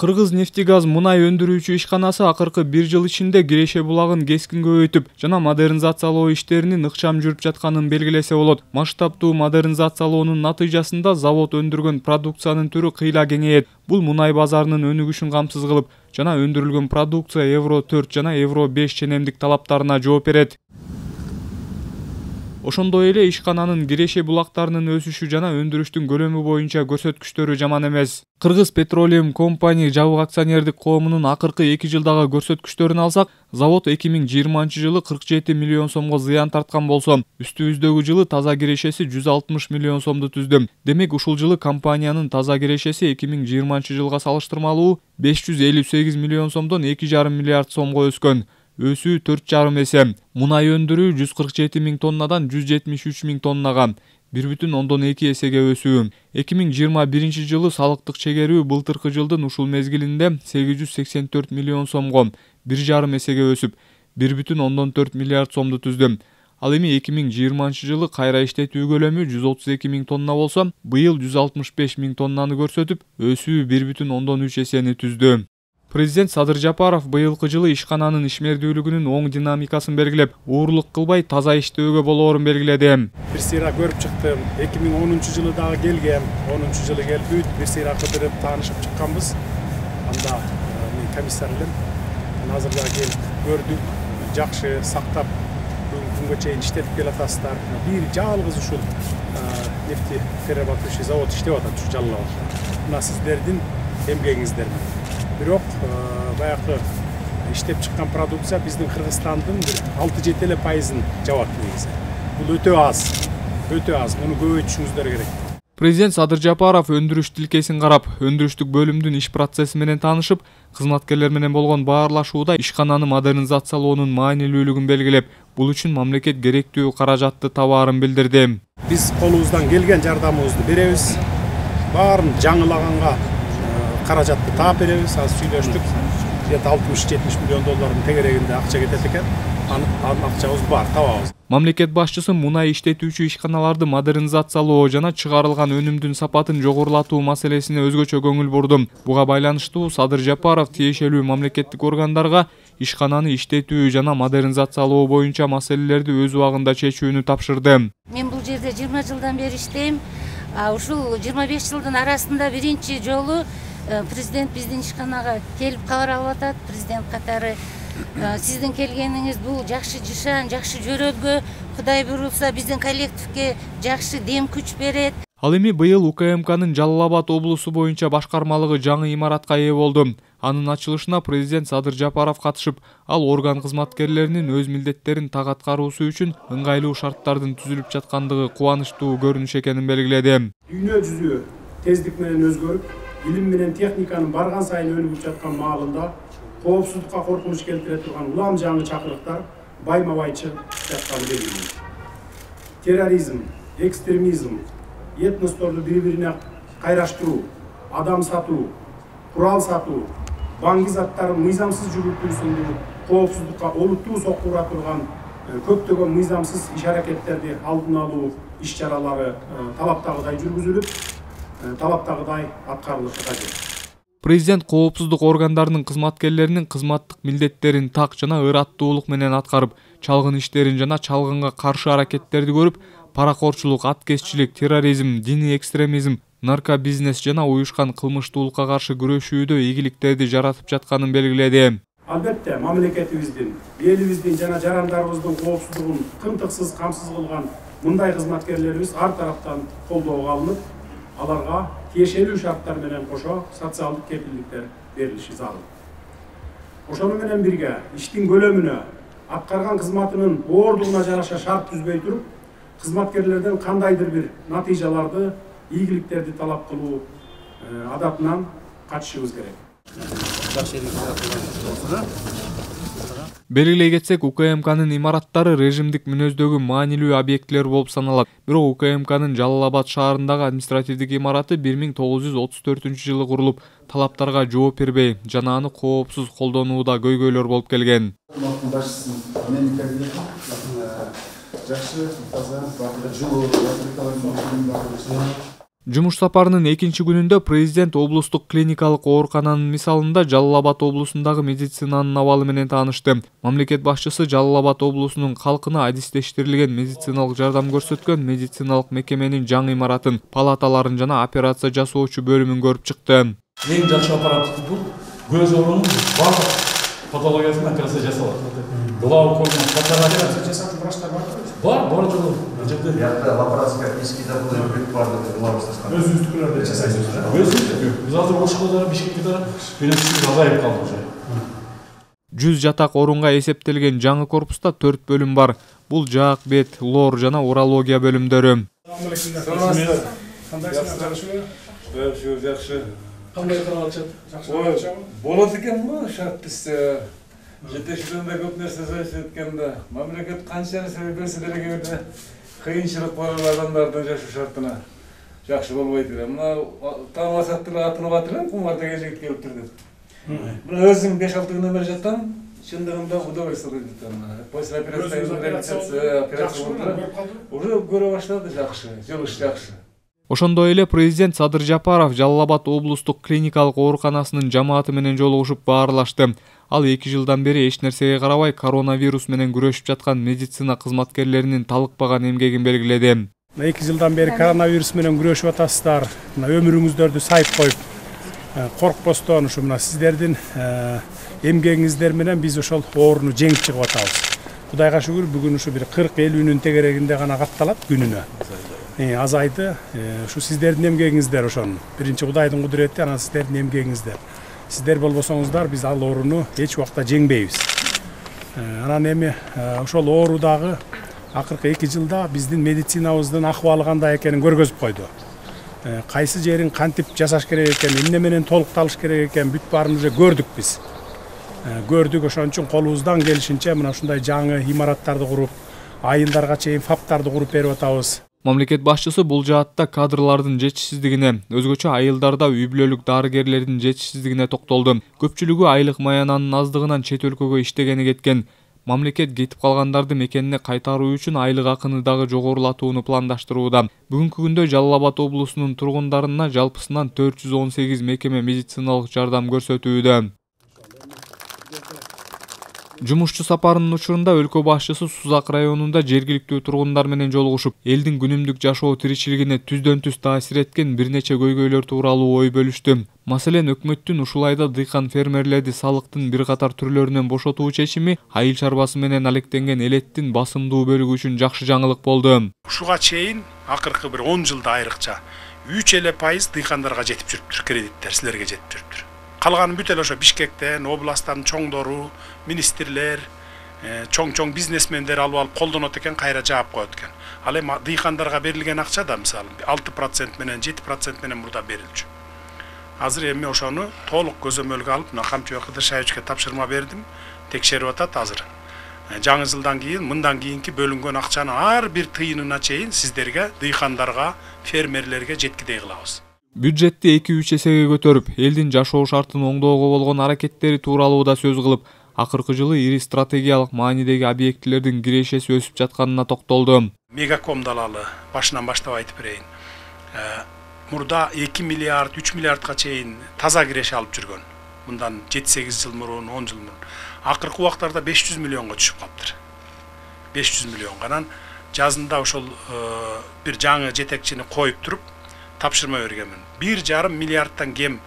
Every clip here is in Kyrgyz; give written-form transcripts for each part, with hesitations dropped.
Кыргыз нефтегаз мунай өндүрүүчү ишканасы акыркы 1 жыл ичинде Киреше булагын кескин көбөйтүп жана модернизациялоо иштеринин ыкчам жүрүп жатканын белгилесе болот. Масштабтуу модернизациялоонун натыйжасында завод өндүргөн продукциянын түрү кыйла кеңейет. Бул мунай базарынын өнүгүшүн камсыз кылып, жана өндүрүлгөн продукция Евро 4 жана Евро 5 ченемдик талаптарына жооп берет. Ошондой эле ишкананын Киреше булактарынын өсүшү жана өндүрүштүн көлөмү боюнча көрсөткүчтөрү жаман эмес. Кыргыз Petroleum Company жабык акционердик коомунун акыркы 2 жылдагы көрсөткүчтөрүн алсак, завод 2020-жылы 47 миллион сомго зыян тарткан болсо, үстүбүздөгү жылы таза кирешеси 160 миллион сомду түздү. Демек ушул жылы компаниянын таза кирешеси 2020-жылга салыштырмалуу 558 миллион сомдон 2,5 миллиард сомго өскөн. Өсүү 4,5 эсе. Мунай өндүрүү 147 миң тоннадан 173 миң тоннага, 1,2 эсеге өсүү. 2021 жылы салыктык чегерүү былтыркы жылдын ушул мезгилинде 884 миллион сомго, 1,5 эсеге өсүп, 1,4 миллиард сомду түздү. Ал эми 2020 жылы кайра иштетүү көлөмү 132 миң тонна болсо, быйыл 165 миң тоннаны көрсөтүп, өсүү 1,3 эсени түздү. Президент Садыр Жапаров быйылкы жылы ишкананын ишмердүүлүгүнүн оң динамикасын белгилеп, уурлук кылбай таза иштөөгө болоорун белгиледи. Бир сыйра көрүп чыктым. 2010 жылы дагы келгем. 10 жылы келип бүт бир сыйра кыдырып таанышып чыкканбыз. Анда мен комиссар элем. Азыр дагы келип көрдүк. Жакшы сактап күнгө чейин иштетип келатасыздар. Бир жалгыз ушул нефтеперерабатывающий завод иштеп атат ушу Жалал абадта. Мына сиздердин эмгегиңиздер менен. Бирок баягы иштеп чыккан продукция биздин Кыргызстандын 6-7% жабат негизи. Бул өтө аз. Муну көбөйтүшүңүздөр керек. Президент Садыр Жапаров өндүрүш тилкесин карап, өндүрүштүк бөлүмдүн иш процесси менен таанышып, кызматкерлер менен болгон баарлашууда ишкананы модернизациялоонун маанилүүлүгүн белгилеп, бул үчүн мамлекет керектүү каражатты табаарын билдирди. Биз колубуздан келген жардамыбызды беребиз. Баарын жаңылаганга каражатты таап беребиз. Азыр сүйлөштүк. Где-то 60-70 миллион доллардын тегерегинде акча кетет экен. Анын акчабыз бар, табабыз. Мамлекет башчысы мунай иштетүүчү ишканаларды модернизациялоо жана чыгарылган өнүмдүн сапатын жогорулатуу маселесине өзгөчө көңүл бурду. Буга байланыштуу Садыр Жапаров тиешелүү мамлекеттик органдарга ишкананы иштетүү жана модернизациялоо боюнча маселелерди өз убагында чечүүнү тапшырды. Мен бул жерде 20 жылдан бери иштейм. Ушул 25 жылдын арасында биринчи жолу президент биздин ишканага келип кабар алып атат. Президент катары сиздин келгениңиз бул жакшы жышан, жакшы жөрөлгө, Кудай буйрулса биздин коллективге жакшы дем күч берет. Ал эми быйыл УКМКнын Жалал Абад облусу боюнча башкармалыгы жаңы имаратка ээ болду. Анын ачылышына президент Садыр Жапаров катышып, ал орган кызматкерлеринин өз милдеттерин так аткаруусу үчүн ыңгайлуу шарттардын түзүлүп жаткандыгы кубанычтуу көрүнүш экенин белгиледи. Дүйнө жүзү тездик менен өзгөрүп, илим менен техниканын барган сайын өнүгүп жаткан маалында коопсуздукка коркунуч келтире турган улам жаңы чакырыктар байма-бай чыгып жатканы белгилүү. Терроризм, экстремизм, этносторду бири-бирине кайраштыруу, адам сатуу, курал сатуу, баңги заттарын мыйзамсыз жүгүртүү сындуу коопсуздукка олуттуу сокку ура турган көптөгөн мыйзамсыз иш-аракеттерди алдын алуу иш-чаралары талаптагыдай жүргүзүлүп, талаптагыдай аткарылышы кажет. Президент коопсуздук органдарынын кызматкерлеринин кызматтык милдеттерин так жана ыраттуулук менен аткарып, чалгын иштерин жана чалгынга каршы аракеттерди көрүп, паракорчулук, аткезчилик, терроризм, диний экстремизм, наркобизнес жана уюшкан кылмыштуулукка каршы күрөшүүдө ийгиликтерди жаратып жатканын белгиледи. Албетте, мамлекетибиздин, элибиздин жана жарандарыбыздын коопсуздугун тынтыксыз камсыз кылган мындай кызматкерлерибиз ар тараптан колдоого алынып, аларга тиешелүү шарттар менен кошо социалдык кепилдиктер берилиши зарыл. Ошону менен бирге иштин көлөмүнө, аткарган кызматынын боордугуна жараша шарт түзбөй туруп, кызматкерлерден кандайдыр бир натыйжаларды, ийгиликтерди талап кылуу адатынан качышыбыз керек. Белгилей кетсек, УКМКнын имараттары режимдик мүнөздөгү маанилүү объектилер болуп саналат. Бирок УКМКнын Жалал Абад шаарындагы административдик имараты 1934 жылы курулуп, талаптарга жооп бербей, жана аны коопсуз колдонууда көйгөйлөр болуп келген. Жакшы, таза, жылуу, Жумуш сапарынын экинчи күнүндө президент облустук клиникалык оорукананын мисалында Жалал Абад облусундагы медицинанын абалы менен таанышты. Мамлекет башчысы Жалал Абад облусунун калкына адистештирилген медициналык жардам көрсөткөн медициналык мекеменин жаңы имаратын, палаталарын жана операция жасоочу бөлүмүн көрүп чыкты. Эң жакшы аппарат бул. Көз оорунун бардык патологиясын операция жасалат. Глаукомдун операция жасатын врачтар барбы? Бар жолу. Бияқта лапароскопический бүт бардык главустан. Өзүңүздүкүлөрдү жасайсыз да? Өзүбүздүкү. Биз азыр Ошкодо, Бишкекте финансист азайып калды уже. 100 жатак орунга эсептелген жаңы корпуста 4 бөлүм бар. Бул жаак, бет, лор жана урология бөлүмдөрү. Жакшы. Кандай каралат? Жакшы. Болот экенби? Шарт бизде жетекчилигинде көп нерсе сөзүп өткөндө, мамлекет канча нерсе берсе деле кыйынчылык бар адамдардын жашоо шартына жакшы болбойт эле. Мына таамасак деле атынып атыр, кумар деген жигит келиптир деп. Мына өзүм 5-6 күнөн бери жаттым. Чындыгында удовольствие жаттым. После операция уже көрө баштады жакшы, жылыш жакшы. Ошондой эле президент Садыр Жапаров Жалал Абад облустук клиникалык ооруканасынын жамааты менен жолугушуп баарлашты. Ал 2 жылдан бери эч нерсеге карабай коронавирус менен күрөшүп жаткан медицина кызматкерлеринин талыкпаган эмгегин белгиледи. 2 жылдан бери коронавирус менен күрөшүп атасыздар. Өмүрүңүздөрдү сайып коюп, коркпостон ушу мына сиздердин эмгегиңиздер менен биз ошол ооруну жеңип чыгып атабыз. Кудайга шүгүр, бүгүн ушу бир 40-50 тегерегинде гана катталат күнүнө. Азайды. Ушу сиздердин эмгегиңиздер ошонун. Биринчи Кудайдын кудурети, анан сиздердин эмгегиңиздер. Сиздер болбосоңуздар, биз ал ооруну эч убакта жеңбейбиз. Анан эми ошол оорудагы акыркы 2 жылда биздин медицинабыздын акыбалы кандай экенин көргөзүп койду. Кайсы жерин кантип жасаш керек экен, эмне менен толукталыш керек экен, бүт баарын уже көрдүк биз. Көрдүк, ошон үчүн колубуздан келишинче мына ушундай жаңы имараттарды куруп, айылдарга чейин фаптарды куруп берип атабыз. Мамлекет башчысы бул жаатта кадрлардын жетишсиздигине, өзгөчө айылдарда үй бүлөлүк дарыгерлердин жетишсиздигине токтолду. Көпчүлүгү айлык маянанын аздыгынан чет өлкөгө иштегени кеткен. Мамлекет кетип калгандарды мекенине кайтаруу үчүн айлык акыны дагы жогорулатууну пландаштырууда. Бүгүнкү күндө Жалал Абад облусунун тургундарына жалпысынан 418 мекеме медициналык жардам көрсөтүүдө. Жумушчу сапарынын учурунда өлкө башчысы Сузак районунда жергиликтүү тургундар менен жолугушуп, элдин күнүмдүк жашоо тиричилигине түздөн-түз таасир эткен бир нече көйгөйлөр тууралуу ой бөлүштү. Маселен, өкмөттүн ушул айда дыйкан фермерлерди салыктын бир катар түрлөрүнөн бошотуу чечими айыл чарбасы менен алектенген элеттин басымдуу бөлүгү үчүн жакшы жаңылык болду. Ушуга чейин акыркы бир 10 жылда айрыкча 3% дыйкандарга жетип жүрүптүр, кредиттер силерге жетип жүрүптүр. Калганы бүт эле ошо Бишкектен, областтын чоңдору, министрлер, чоң бизнесмендер алып колдонот экен, кайра жаап коет экен. Ал эми дыйкандарга берилген акча да мисалы 6% менен 7% менен мурда берилчү. Азыр эми ошону толук көзөмөлгө алып, мына Камчыбек Кыдыршаевичке тапшырма бердим, текшерип атат азыр. Жаңы жылдан кийин, мындан кийинки бөлүнгөн акчаны ар бир тыйынына чейин сиздерге, дыйкандарга, фермерлерге жеткидей кылабыз. Бюджетти 2-3 эсеге көтөрүп, элдин жашоо шартын оңдоого болгон аракеттери тууралуу да сөз кылып, акыркы жылы ири стратегиялык маанидеги объектилердин кирешеси өсүп жатканына токтолду. Мегаком далалы башынан баштап айтып берейин. Мурда 2 миллиард, 3 миллиардга чейин таза киреше алып жүргөн. Мындан 7-8 жыл мурун, 10 жыл мурун. Акыркы убактарда 500 миллионго түшүп калыптыр. 500 миллионго. Анан жазында ошол бир жаңы жетекчини коюп туруп тапшырма бергенмин. 1,5 миллиардтан кем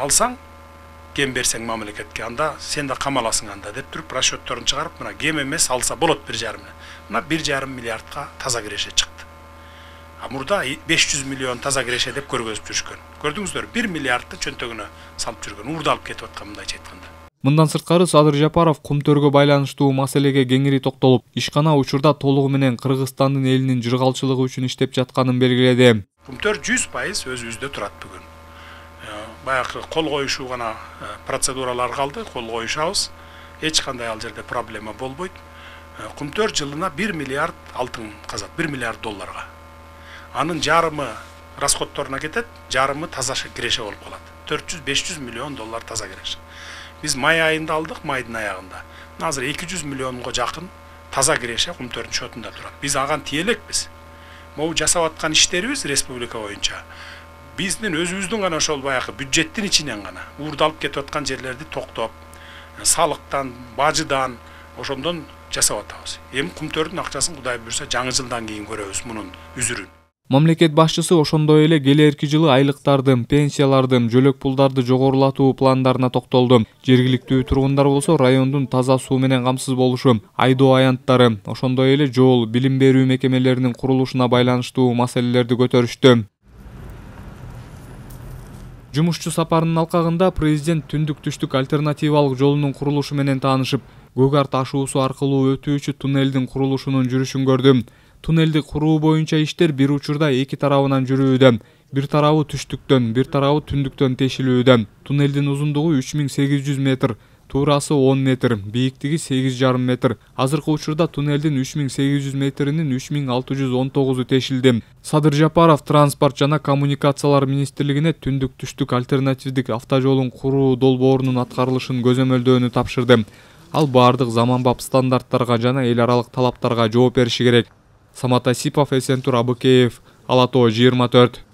алсаң, кем берсең мамлекетке, анда сен да камаласың анда деп туруп расчетторун чыгарып, мына кем эмес алса болот 1,5. Мына 1,5 миллиардка таза киреше чыкты. Мурда 500 миллион таза киреше деп көргөзүп жүрүшкөн. Көрдүңүздөр, 1 миллиардты чөнтөгүнө салып жүргөн, уурдалып кетип аткан мындайча айтканда. Мындан сырткары Садыр Жапаров кумтөргө байланыштуу маселеге кеңири токтолуп, ишкана учурда толугу менен Кыргызстандын элинин жыргалчылыгы үчүн иштеп жатканын белгиледи. Кумтөр 100% өзүбүздө турат бүгүн. Баягы кол коюшуу гана процедуралар калды, кол коюшабыз. Эч кандай ал жерде проблема болбойт. Кумтөр жылына 1 миллиард алтын казат, 1 миллиард долларга. Анын жарымы расходторуна кетет, жарымы таза киреше болуп калат. 400-500 миллион доллар таза киреше. Биз май айында алдык, майдын аягында. Азыр 200 миллионго жакын таза киреше Кумтөрдүн шотунда турат. Биз аган тиелекпиз. могу жасап аткан иштерибиз республика боюнча биздин өзүбүздүн гана ошол баягы бюджеттин ичинен гана уурду алып кетип аткан жерлерди токтоп, салыктан, бажыдан ошондон жасап атабыз. Эми кумтөрдүн акчасын Кудай буйрса жаңы жылдан кийин көрөбүз мунун үзүрүн. Мамлекет башчысы ошондой эле келерки жылы айлыктардын, пенсиялардын, жөлөк пулдарды жогорулатуу пландарына токтолду. Жергиликтүү тургундар болсо райондун таза суу менен камсыз болушу, айдоо аянттары, ошондой эле жол, билим берүү мекемелеринин курулушуна байланыштуу маселелерди көтөрүштү. Жумушчу сапарынын алкагында президент түндүк-түштүк альтернативалык жолунун курулушу менен таанышып, Көк Ар ташуусу аркылуу өтүүчү туннелдин курулушунун жүрүшүн көрдү. Туннелди куруу боюнча иштер бир учурда эки тарабынан жүрүүдө. Бир тарабы түштүктөн, бир тарабы түндүктөн тешилүүдө. Туннелдин узундугу 3800 метр, туурасы 10 метр, бийиктиги 8,5 метр. Азыркы учурда туннелдин 3800 метринин 3619-у тешилди. Садыр Жапаров Транспорт жана коммуникациялар министрлигине түндүк-түштүк альтернативдик автожолун куруу долбоорунун аткарылышын көзөмөлдөөнү тапшырды. Ал бардык заманбап стандарттарга жана эл аралык талаптарга жооп бериши керек. Самат Асипов, Эсентур Абыкеев, Ала Тоо 24.